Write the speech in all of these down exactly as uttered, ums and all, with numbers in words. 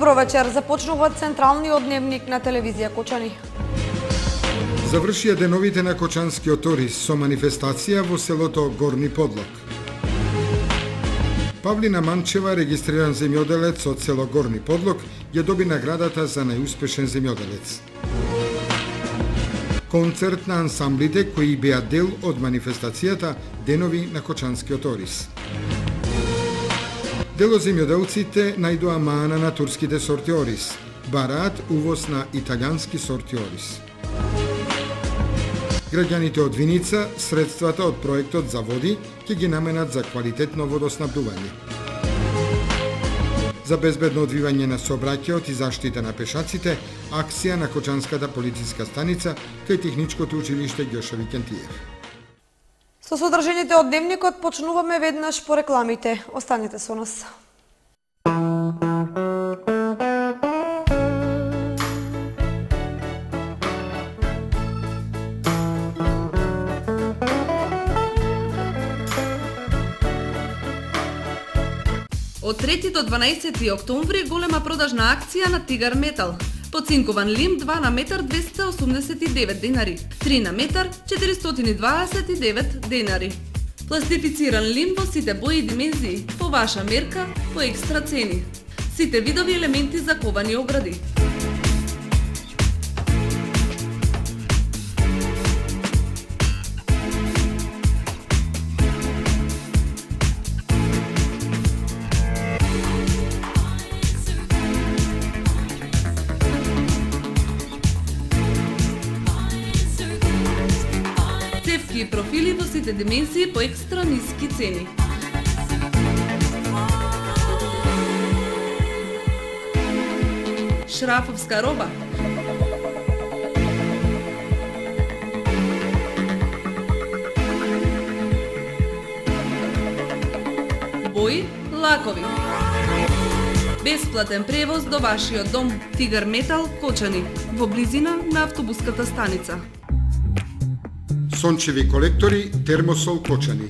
Добро вечер, започнува централниот дневник на телевизија Кочани. Завршија деновите на Кочанскиот Орис со манифестација во селото Горни Подлог. Павлина Манчева, регистриран земјоделец од село Горни Подлог, ја доби наградата за најуспешен земјоделец. Концерт на ансамблите кои беа дел од манифестацијата Денови на Кочанскиот Орис. Делоземјоделците најдоа маана на турските сорти орис, бараат увоз на италијански сорти орис. Граѓаните од Виница средствата од проектот за води ќе ги наменат за квалитетно водоснабдување. За безбедно одвивање на сообраќајот и заштита на пешаците, акција на Кочанската полициска станица кај Техничкото училиште Ѓоша Викентиев. Со содржините од дневникот почнуваме веднаш по рекламите. Останете со нас. Од трети до дванаесети октомври голема продажна акција на Тигар Метал. Поцинкован лим два на метар двесте осумдесет и девет денари, три на метар четиристотини и дваесет и девет денари. Пластифициран лим во сите бои и димензии, по ваша мерка, по екстра цени. Сите видови елементи за ковани огради. И профили во сите димензии по екстра ниски цени. Шрафовска роба. Бои, лакови. Бесплатен превоз до вашиот дом. Тигар Метал, Кочани, во близина на автобуската станица. Сончеви колектори, Термосол Кочани.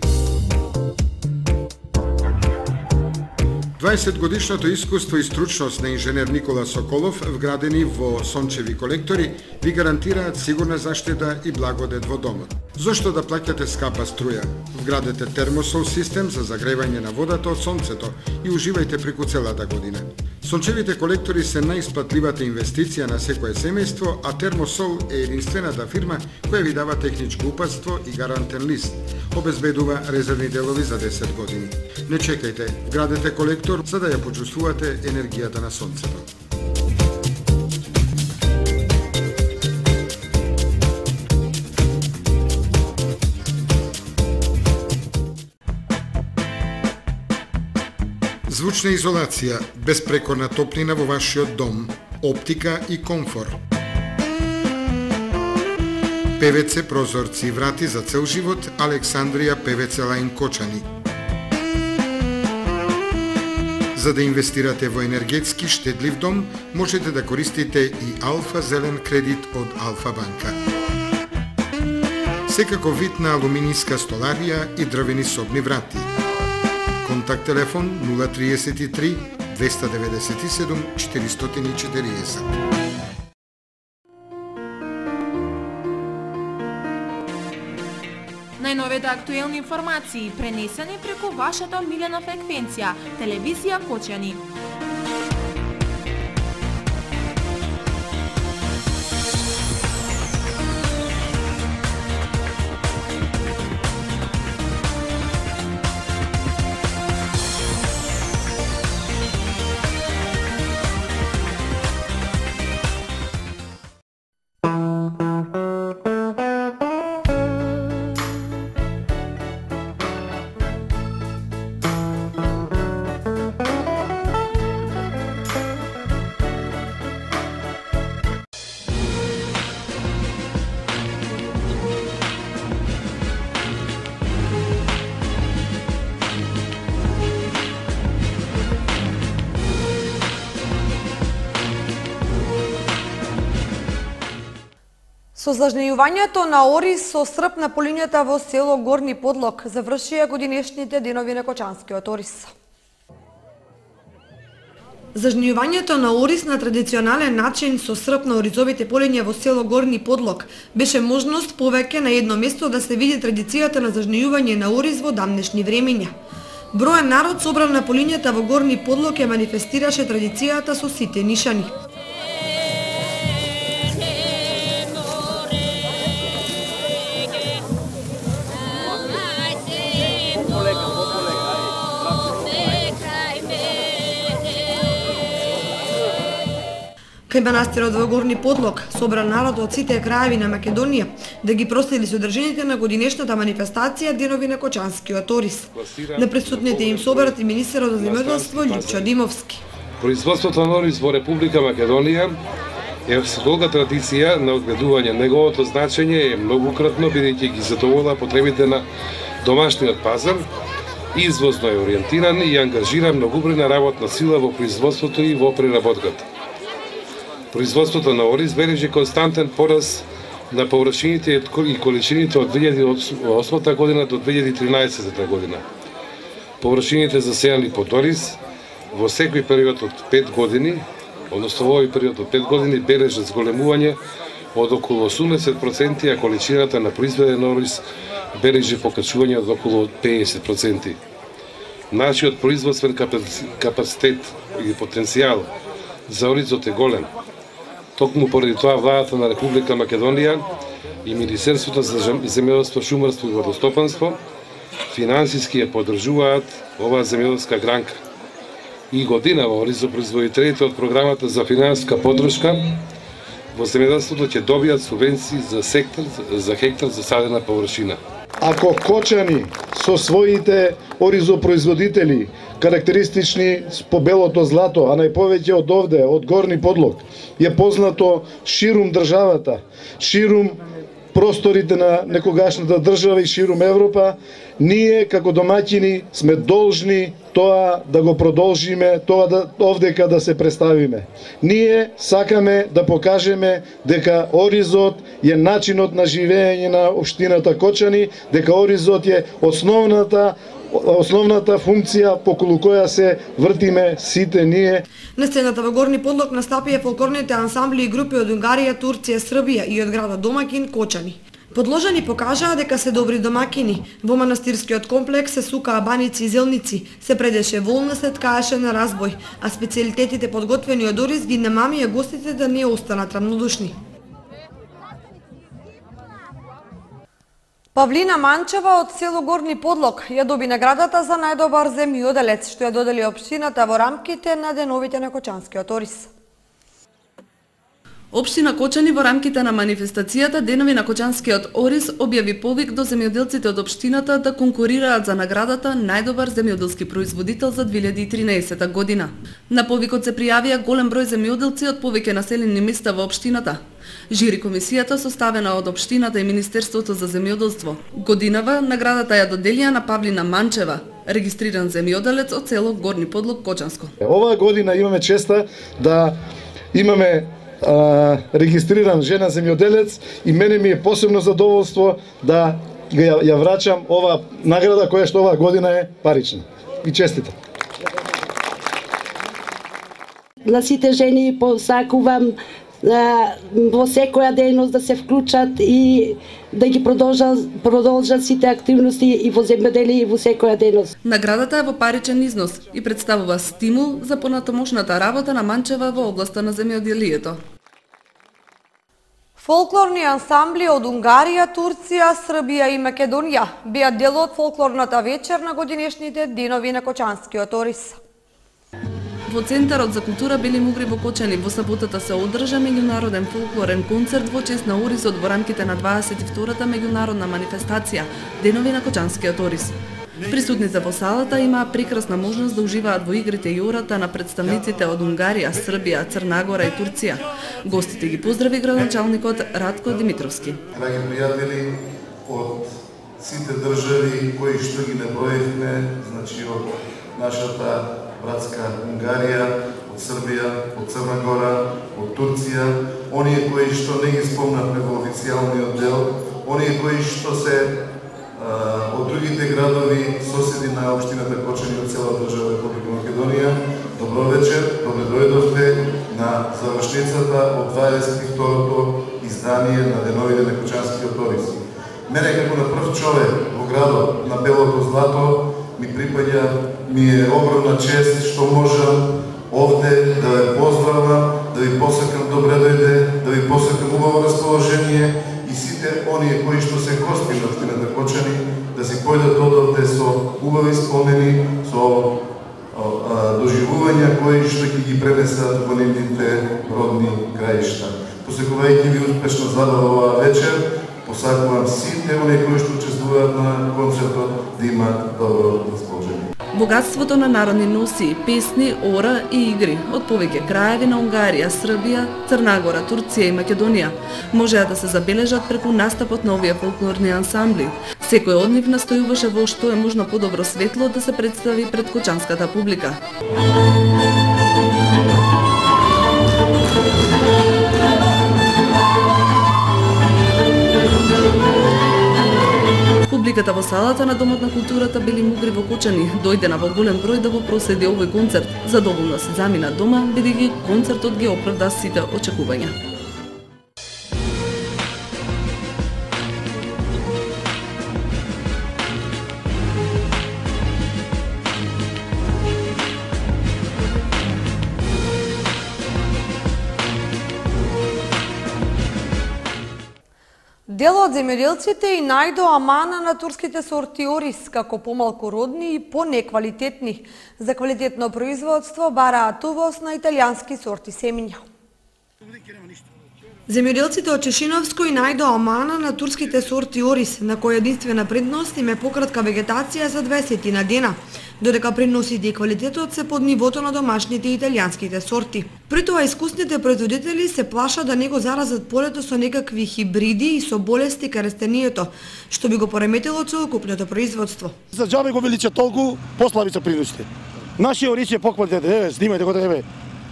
дваесет годишното искуство и стручност на инженер Никола Соколов, вградени во сончеви колектори, ви гарантираат сигурна заштита и благодет во домот. Зошто да плаќате скапа струја? Вградете термосол систем за загревање на водата од сонцето и уживајте преку целата година. Сончевите колектори се најисплатливата инвестиција на секое семејство, а Термосол е единствената фирма која ви дава техничко упатство и гарантен лист. Обезбедува резервни делови за десет години. Не чекајте, вградете колектор за да ја почувствувате енергијата на сонцето. Звучна изолација, безпрекорна топлина во вашиот дом, оптика и комфор. ПВЦ прозорци и врати за цел живот, Александрија ПВЦ Лајн Кочани. За да инвестирате во енергетски штедлив дом, можете да користите и Алфа Зелен кредит од Алфа Банка. Секако вид на алуминијска столарија и дрвени собни врати. Контакт телефон нула триесет и три двеста деветдесет и седум четиристотини и четириесет. Најновите актуелни информации пренесени преку вашата милена фреквенција, телевизија Кочани. Со зажнејувањето на орис со срп на полињата во село Горни Подлог завршија годинешните денови на Кочанскиот Орис. Зажнивањето на ориз на традиционален начин со срп на оризовите полиња во село Горни Подлог беше можност повеќе на едно место да се види традицијата на зажнивање на ориз во дамнешни времиња. Броен народ собран на полињата во Горни Подлог ја манифестираше традицијата со сите нишани. Кај манастирот во Горни Подлог собран народ од сите краеви на Македонија да ги проследи содржините на годинешната манифестација Денови на Кочанскиот ориз. На присутните им собрат и министерот за земјоделство Љупчо Димовски. Производството на ориз во Република Македонија е долга традиција на одгледување. Неговото значење е многукратно, бидејќи ги задовола потребите на домашниот пазар, извозно е ориентиран и ангажира многубройна работна сила во производството и во преработката. Производството на ориз бележи константен пораст на површините и количините од две илјади и осма година до две илјади и тринаесетта година. Површините засејани под ориз во секој период од пет години, односно во овој период од пет години, бележат зголемување од околу осумдесет проценти, а количината на произведен ориз бележи покачување од околу педесет проценти. Нашиот производствен капацитет и потенцијал за оризот е голем. Токму поради тоа владата на Република Македонија и Министерството за земјоделство, шумарство и водостопанство финансиски ја поддржуваат оваа земјоделска гранка. И годинава оризопроизводителите од програмата за финансиска поддршка во земјоделството ќе добијат субвенции за сектор за хектар засадена површина. Ако Кочани со своите оризопроизводители, карактеристични по белото злато, а најповеќе од овде, од Горни Подлог, е познато ширум државата, ширум просторите на некогашната држава и ширум Европа, ние како домаќини сме должни тоа да го продолжиме, тоа да овдека да се представиме. Ние сакаме да покажеме дека оризот е начинот на живење на општината Кочани, дека оризот е основната основната функција поколу која се вртиме сите ние. На сцената во Горни Подлог настапија фолклорните ансамбли и групи од Унгарија, Турција, Србија и од градот домакин Кочани. Подложани покажаа дека се добри домакини. Во манастирскиот комплекс се сукаа баници и зелници, се предеше волна, се ткаеше на разбој, а специјалитетите подготвени од ориз ги намамија гостите да не останат рамнодушни. Павлина Манчева од село Горни Подлог ја доби наградата за најдобар земјоделец, што ја додели општината во рамките на Деновите на Кочанскиот ориз. Општина Кочани во рамките на манифестацијата Денови на Кочанскиот ориз објави повик до земјоделците од општината да конкурираат за наградата најдобар земјоделски производител за две илјади и тринаесетта година. На повикот се пријавија голем број земјоделци од повеќе населени места во општината. Жири комисијата составена од општината и Министерството за земјоделство. Годинава наградата ја доделија на Павлина Манчева, регистриран земјоделец од село Горни Подлог, Кочанско. Оваа година имаме честа да имаме а, регистриран жена земјоделец и мене ми е посебно задоволство да ја, ја врачам оваа награда која што оваа година е парична. И честитам. На сите жени посакувам во секоја дејност да се вклучат и да ги продолжат, продолжат сите активности и во земјоделие и во секоја дејност. Наградата е во паричен износ и представува стимул за понатамошната работа на Манчева во областа на земјоделието. Фолклорни ансамбли од Унгарија, Турција, Србија и Македонија беа дел од фолклорната вечер на годинешните Денови на Кочанскиот ориз. Во Центарот за култура Бели Мугри во Кочани во саботата се одржа меѓународен фолклорен концерт во чест на оризот во рамките на дваесет и втората меѓународна манифестација Денови на Кочанскиот ориз. Присутните во салата имаа прекрасна можност да уживаат во игрите и ората на представниците од Унгарија, Србија, Црна Гора и Турција. Гостите ги поздрави градоначалникот Радко Димитровски. Драги пријатели од сите држави кои што ги наброевме, значи од нашата братска Унгарија, од Србија, од Црна Гора, од Турција, оние кои што не ги спомнавме во официјалниот дел, оние кои што се а, од другите градови соседи на општината Кочани од цела држава Република Македонија, Добро вечер, добре дојдовте на завршницата од дваесет и второто издание на Деновите на Кочанскиот Орис. Мене како на прв човек во градот на Белото Злато ми припаѓа, ми е огромна чест што можам овде да ве поздравам, да ви посакам добре дојде, да ви посакам убаво расположение и сите оние кои што се гости на општината Кочани да си појдат одовде со убави спомени, со доживувања кои што ќе ги пренесат во нивните родни краишта. Посекувајќи ви успешна забава оваа вечер, посакувам сите оние кои што учествуваат на концертот да имаат добро расположение. Богатството на народни носи, песни, ора и игри од повеќе краеви на Унгарија, Србија, Црна Гора, Турција и Македонија можеа да се забележат преку настапот на овие фолклорни ансамбли. Секој од нив настојуваше во што е можно подобро светло да се представи пред кочанската публика. Публиката во салата на Домот на културата Бели Мугри во Кочани дојдена во голем број да го проследи овој концерт. Задоволно се замина дома, бидејќи концертот ги оправда сите очекувања. Дел од земјоделците и најдо амана на турските сорти орис, како помалку родни и понеквалитетни. За квалитетно производство бараат увоз на италијански сорти семиња. Земјоделците од Чешиновско и најдо амана на турските сорти орис, на која единствена предност им е пократка вегетација за дваесет на дена, додека предносите и квалитетот се под нивото на домашните италијанските сорти. При тоа искусните производители се плашат да не го заразат полето со некакви хибриди и со болести кај растението, што би го пореметило целокупното производство. За џабе го велича толку, послаби се приносите. Нашиот орис е поквалитетен, еве, снимајте го еве.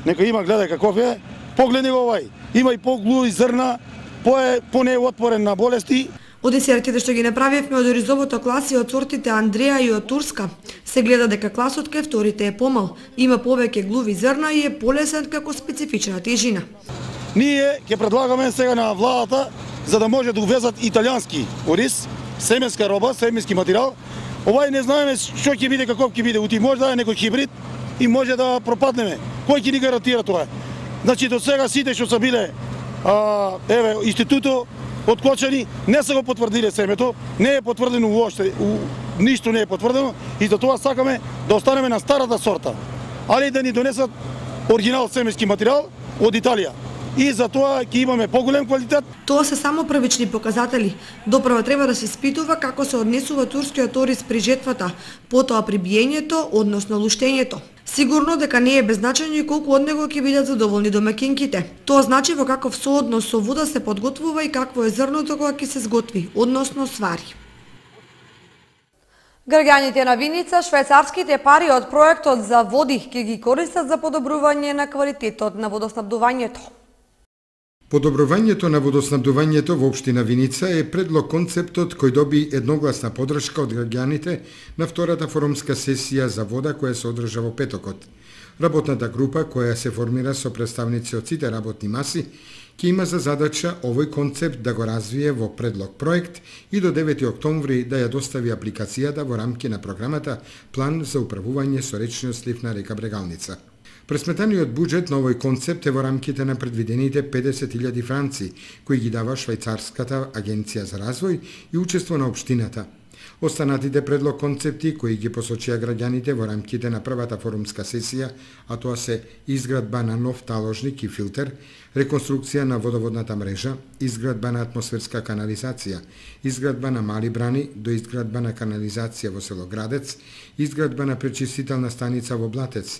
Нека има, гледај каков е. Погледни го овај. Има и поглуи зрна, по е понеотпорен на болести. Од десертите што ги направивме од оризовото класи од сортите Андреа и од Турска, се гледа дека класот кај вторите е помал, има повеќе глуви зрна и е полесен како специфична тежина. Ние ќе предлагаме сега на владата за да може да увезат италијански ориз, семенска роба, семенски материјал. Овај не знаеме што ќе биде, каков ќе биде, ути може да е некој хибрид и може да пропаднеме. Кој ќе ни гарантира тоа? Значи до сега сите што са биле а, еве институтот од Кочани не се го потврдиле семето, не е потврдено уопште, ништо не е потврдено и за тоа сакаме да останеме на старата сорта, али да ни донесат оригинал семенски материјал од Италија. И за тоа ќе имаме поголем квалитет. Тоа се само првични показатели. Допрва треба да се испитува како се однесува турскиот ориз при жетвата, потоа при биењето, односно луштењето. Сигурно дека не е беззначајно и колку од него ќе бидат задоволни домакинките. Тоа значи во каков сооднос со вода се подготвува и какво е зрното кога ќе се сготви, односно свари. Граѓаните на Виница швајцарските пари од проектот за води ќе ги користат за подобрување на квалитетот на водоснабдувањето. Подобрувањето на водоснабдувањето во општина Виница е предлог концептот кој доби едногласна подршка од граѓаните на втората форумска сесија за вода која се одржа во петокот. Работната група која се формира со представници од сите работни маси ќе има за задача овој концепт да го развие во предлог проект и до девети октомври да ја достави апликацијата во рамки на програмата План за управување со речниот слив на река Брегалница. Пресметаниот буџет на овој концепт е во рамките на предвидените педесет илјади франци, кои ги дава Швајцарската агенција за развој и учество на општината. Останатите предлог концепти кои ги посочија граѓаните во рамките на првата форумска сесија, а тоа се изградба на нов таложник и филтер, реконструкција на водоводната мрежа, изградба на атмосферска канализација, изградба на мали брани до изградба на канализација во село Градец, изградба на пречистителна станица во Блатец,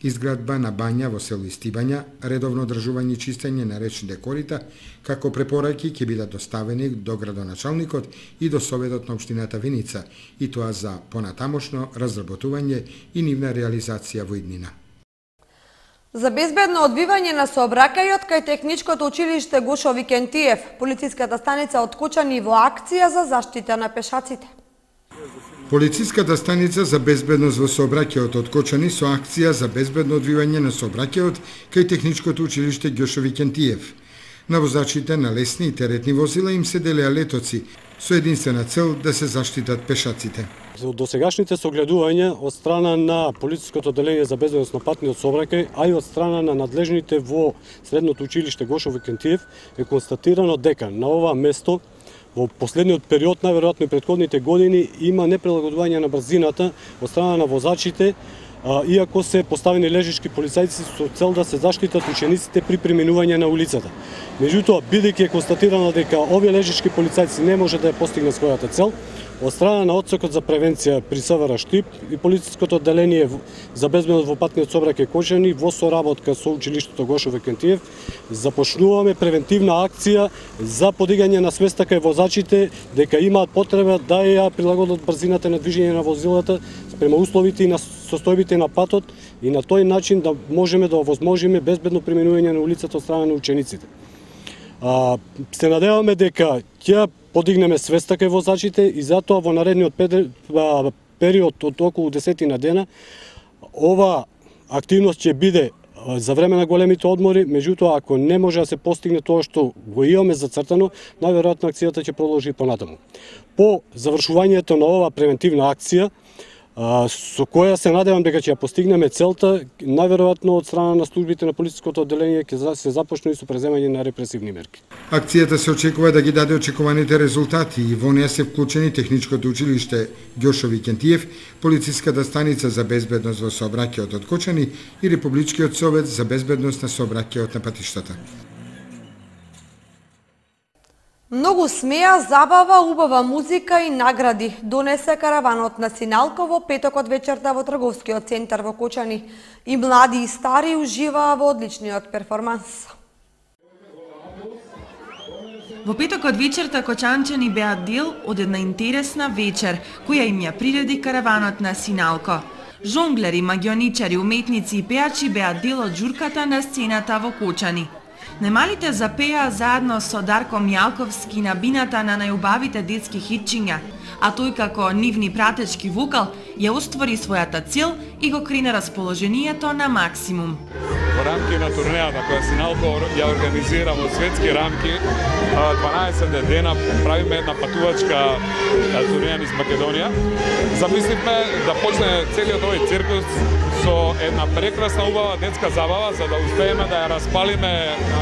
изградба на бања во село Истибања, редовно одржување и чистење на речните корита, како препораки ќе бидат доставени до градоначалникот и до Советот на општината Виница, и тоа за понатамошно разработување и нивна реализација во иднина. За безбедно одбивање на сообраќајот кај Техничкото училиште Гошо Викентиев, полициската станица од Кочани во акција за заштита на пешаците. Полициската станица за безбедност во сообраќајот од Кочани со акција за безбедно одвивање на сообраќајот кај Техничкото училиште Ѓошо Викентиев. На возачите на лесни и теретни возила им се делеа летоци со единствена цел да се заштитат пешаците. За досегашните согледувања од страна на Полициското одделение за безбедност на патниот сообраќај, а и од страна на надлежните во Средното училиште Ѓошо Викентиев е констатирано дека на ова место во последниот период, најверојатно и претходните години, има неприлагодување на брзината од страна на возачите, иако се поставени лежички полицајци со цел да се заштитат учениците при преминување на улицата. Меѓутоа, бидејќи е констатирано дека овие лежички полицајци не може да ја постигне својата цел, од страна на Одсекот за превенција при СВР Штип и Полициското одделение за безбедност во патниот сообраќај Кочани во соработка со училиштето Ѓошо Викентиев започнуваме превентивна акција за подигање на свеста кај возачите дека имаат потреба да ја прилагодат брзината на движење на возилата спрема условите и на состојбите на патот и на тој начин да можеме да овозможиме безбедно преминување на улицата од страна на учениците. А, се надеваме дека ќе подигнеме свеста кај возачите и затоа во наредниот период од околу десетина дена ова активност ќе биде за време на големите одмори, меѓутоа ако не може да се постигне тоа што го имаме зацртано, најверојатно акцијата ќе продолжи понатаму. По завршувањето на ова превентивна акција, со која се надевам дека ќе ја постигнеме целта, најверојатно од страна на службите на полициското одделение ќе се започне и со преземање на репресивни мерки. Акцијата се очекува да ги даде очекуваните резултати и во неја се вклучени Техничкото училиште Ѓошо Викентиев, Полициската станица за безбедност во сообраќајот од Кочани и Републичкиот совет за безбедност на сообраќајот на патиштата. Многу смеа, забава, убава музика и награди донесе караванот на Синалко во петокот вечерта во трговскиот центар во Кочани. И млади и стари уживаа во одличниот перформанс. Во петокот вечерта кочанчани беа дел од една интересна вечер, која им ја приреди караванот на Синалко. Жонглери, магионичари, уметници и пеачи беа дел од журката на сцената во Кочани. Најмалите запеа заедно со Дарко Мјалковски на бината на најубавите детски хитчиња, а тој како нивни пратечки вокал ја оствори својата цел и го крене расположението на максимум. Во рамки на турнејата која Синалко ја организира во светски рамки, дванаесет дена правиме една патувачка турнеја низ Македонија. Замисливме да почне целиот овој циркус со една прекрасна убава детска забава за да успееме да ја распалиме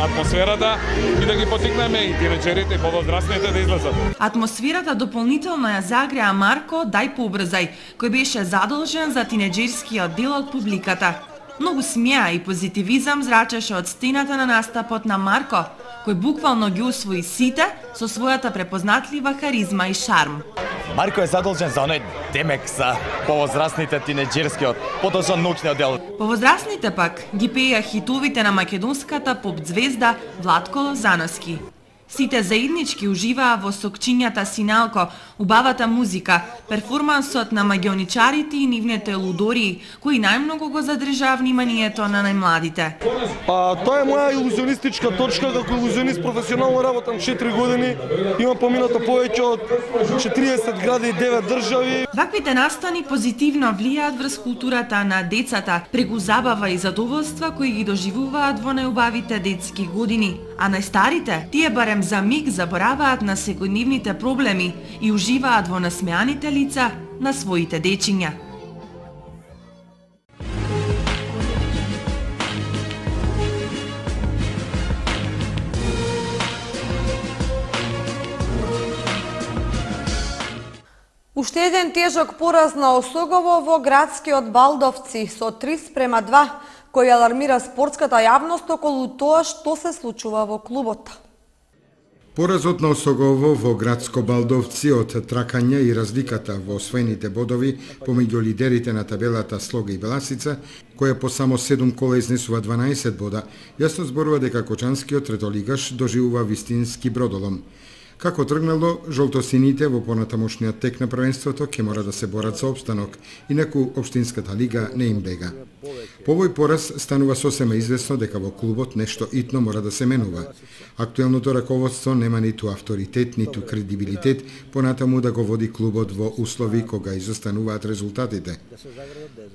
атмосферата и да ги потикнеме и тинеџерите и повозрастните да излезат. Атмосферата дополнително ја загреа Марко Дај побрзај, кој беше задолжен за тинеџерскиот дел од публиката. Многу смеа и позитивизам зрачеше од стената на настапот на Марко, кој буквално ги освои сите со својата препознатлива харизма и шарм. Марко е задолжен за оној демек за повозрастните тинеџерскиот, подолжен научниот дел. Повозрастните пак ги пееа хитовите на македонската поп звезда Владко Лозановски. Сите заеднички уживаа во сокчињата Синалко, убавата музика, перформансот на магионичарите и нивните лудории, кои најмногу го задржаа вниманието на најмладите. А, тоа е моја илузионистичка точка, како илузионист професионално работам четири години, имам поминато повеќе од четириесет гради и девет држави. Ваквите настани позитивно влијаат врз културата на децата, преку забава и задоволства кои ги доживуваат во најубавите детски години, а најстарите, тие барем за миг забораваат на секојдневните проблеми и уживаат во насмеаните лица на своите дечиња. Уште еден тежок пораз на Осогово во градскиот Балдовци со три спрема два, кој алармира спортската јавност околу тоа што се случува во клубот. Поразот на Осогово во градско Балдовци од тракања и разликата во освоените бодови помеѓу лидерите на табелата Слога и Беласица, која по само седум кола изнесува дванаесет бода, јасно зборува дека кочанскиот третолигаш доживува вистински бродолом. Како тргнало, жолтосините во понатамошниот тек на првенството ќе мора да се борат за опстанок, инаку Општинската лига не им бега. По овој пораз станува сосема известно дека во клубот нешто итно мора да се менува. Актуелното раководство нема ниту авторитет, ниту кредибилитет, понатаму да го води клубот во услови кога изостануваат резултатите.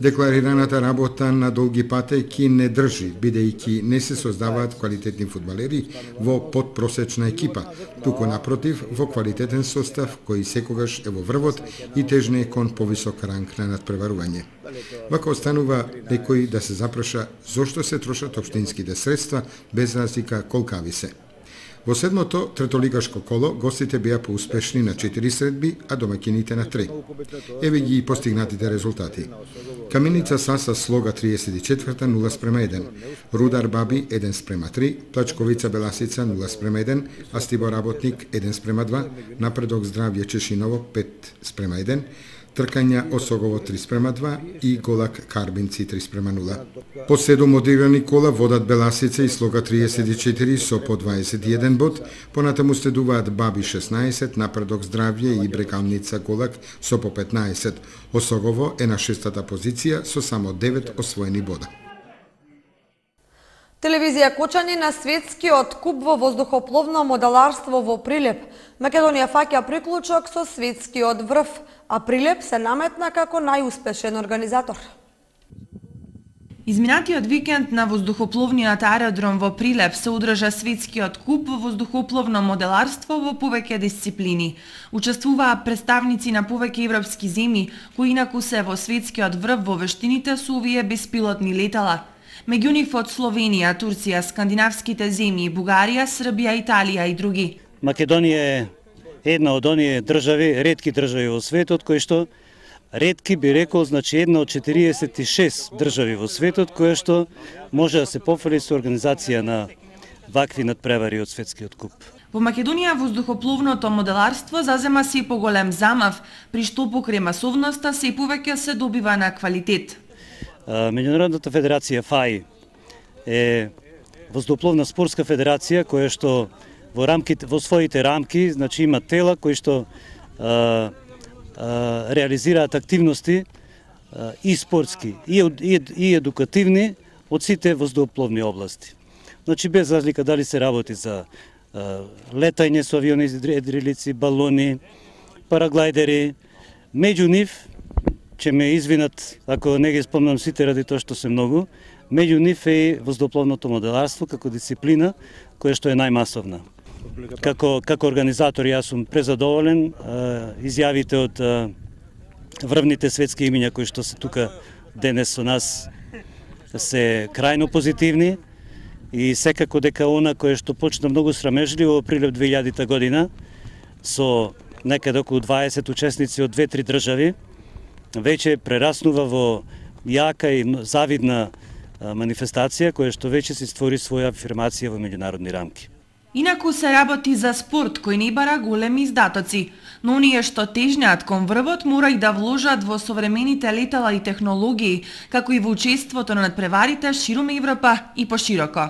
Декларираната работа на долги патеки не држи, бидејќи не се создаваат квалитетни фудбалери во подпросечна екипа, туку напротив во квалитетен состав кој секогаш е во врвот и тежне кон повисок ранг на надпреварување. Вака останува некој да се запраша зошто се трошат општинските средства без разлика колкави се. Во седмото третолигашко коло гостите беа поуспешни на четири средби, а домаќините на три. Еве ги постигнатите резултати. Каменица Саса Слога триесет и четврта нула спрема еден, Рудар Баби еден спрема три, Плачковица Беласица нула спрема еден, Астибо Работник еден спрема два, Напредок Здравје Чешиново пет спрема еден, Тркања Осогово три спрема два и Голак Карбинци три спрема нула. По седум одиграни кола водат Беласица и Слога триесет и четири со по дваесет и еден бод, понатаму следуваат Баби шеснаесет, Напредок Здравје и Брекалница Голак со по петнаесет. Осогово е на шестата позиција со само девет освоени бода. Телевизија Кочани на светскиот куп во воздухопловно моделарство во Прилеп. Македонија фаќа приклучок со светскиот врв, а Прилеп се наметна како најуспешен организатор. Изминатиот викенд на воздухопловниот аеродром во Прилеп се одржа светскиот куп во воздухопловно моделарство во повеќе дисциплини. Учествуваа представници на повеќе европски земји, кои инаку се во светскиот врв во вештините со овие беспилотни летала. Меѓу нив од Словенија, Турција, скандинавските земји, Бугарија, Србија, Италија и други. Македонија е една од оние држави, ретки држави во светот, кои што ретки би рекол, значи една од четириесет и шест држави во светот, која што може да се пофали со организација на вакви надпревари од светскиот куп. Во Македонија воздухопловното моделарство зазема се поголем замав, при што покрај масовноста се повеќе се добива на квалитет. Меѓународната федерација ФАИ е воздухопловна спортска федерација која што во рамките во своите рамки, значи има тела кои што а, а, реализираат активности а, и спортски и, и, и едукативни од сите воздухопловни области. Значи без разлика дали се работи за а, летање со авиони, едрилици, балони, параглайдери, меѓу нив ќе ме извинат ако не ги спомнам сите ради тоа што се многу, меѓу нив е и воздухопловното моделарство како дисциплина која што е најмасовна. Како како организатор јас сум презадоволен, изјавите од врвните светски имиња кои што се тука денес со нас се крајно позитивни и секако дека она кое што почна многу срамежливо во Прилеп две илјадита година со некаде околу дваесет учесници од две-три држави, веќе прераснува во јака и завидна манифестација која што веќе се створи своја афирмација во меѓународни рамки. Инаку се работи за спорт кој не бара големи издатоци, но оние што тежнеат кон врвот мора и да вложат во современите летала и технологии, како и во учеството на надпреварите ширум Европа и пошироко.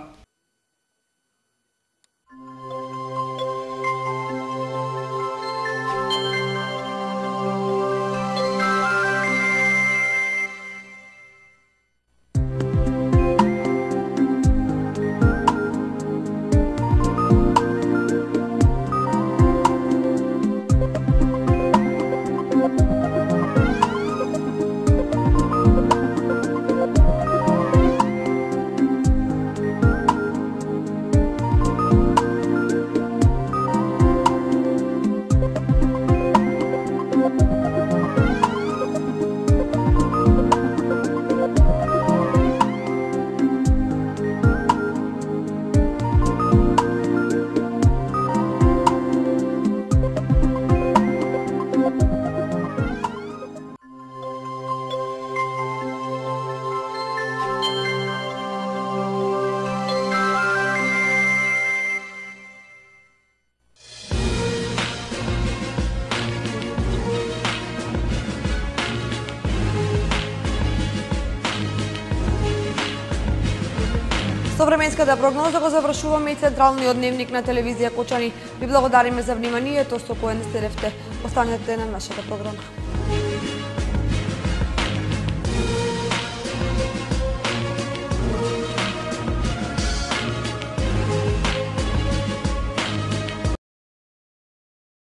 Со временската прогноза го завршуваме и централниот дневник на телевизија Кочани. Ви благодариме за вниманието со кое не сте. Останете на нашата програма.